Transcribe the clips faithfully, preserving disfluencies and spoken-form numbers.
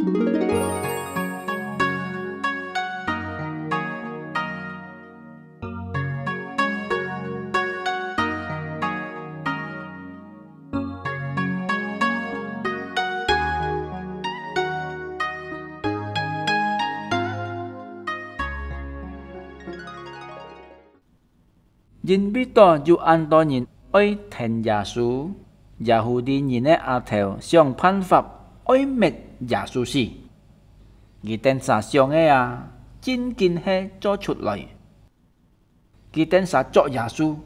因為到有恁多人愛跈耶穌，耶戶利人个阿頭想辦法愛滅耶穌死。佢等儕想个啊，真經係做出來。佢等儕捉耶穌，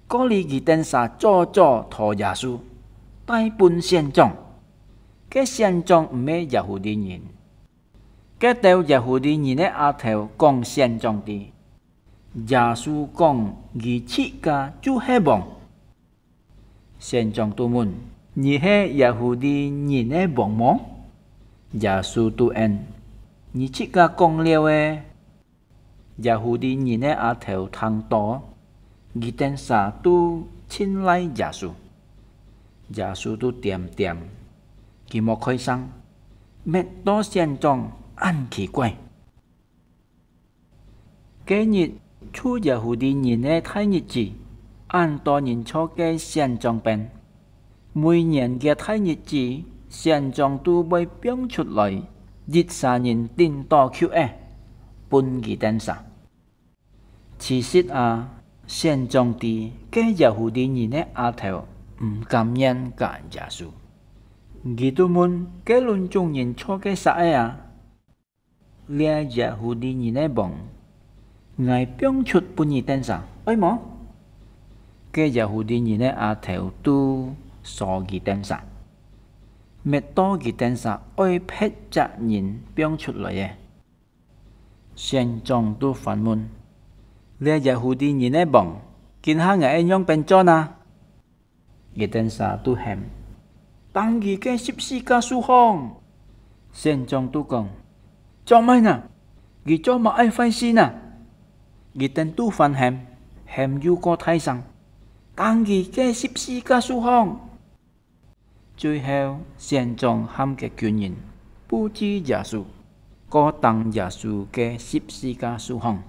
過了佢等儕早早拖耶穌，帶分縣長。該縣長毋係耶戶利人。該兜耶戶利人个阿頭講縣長知，耶穌講佢自家就係王。縣長就問：「你係耶戶利人个王無？」耶穌就應：「你自家講了个。」耶戶利人个阿頭聽到，佢等儕都盡賴耶穌。耶穌就恬恬，佢無開聲，滅到縣長恁奇怪。該日就耶戶利人个大日子，恁多人坐該縣長邊。每年个大日子，縣長都會放出來，一儕人頂到虯仔，分佢等儕。其實啊，縣長知該耶戶利人个阿頭毋甘願㧯耶穌，佢就問該輪眾人坐个儕仔啊：「這耶戶利人个王，𠊎放出分你等儕，愛無？」該耶戶利人个阿頭就挲佢等儕，滅到佢等儕愛別隻人放出來个。縣長就反問：「這耶戶利人个王，今下𠊎愛仰般做呢？」 佢等儕就喊：「釘佢个十字架樹項！」縣長就講：「做麼个呢？佢做麼个壞事呢？」佢等就還喊，喊又過大聲：「釘佢个十字架樹項！」最後，縣長喊个軍人布置耶穌，過釘耶穌个十字架樹項。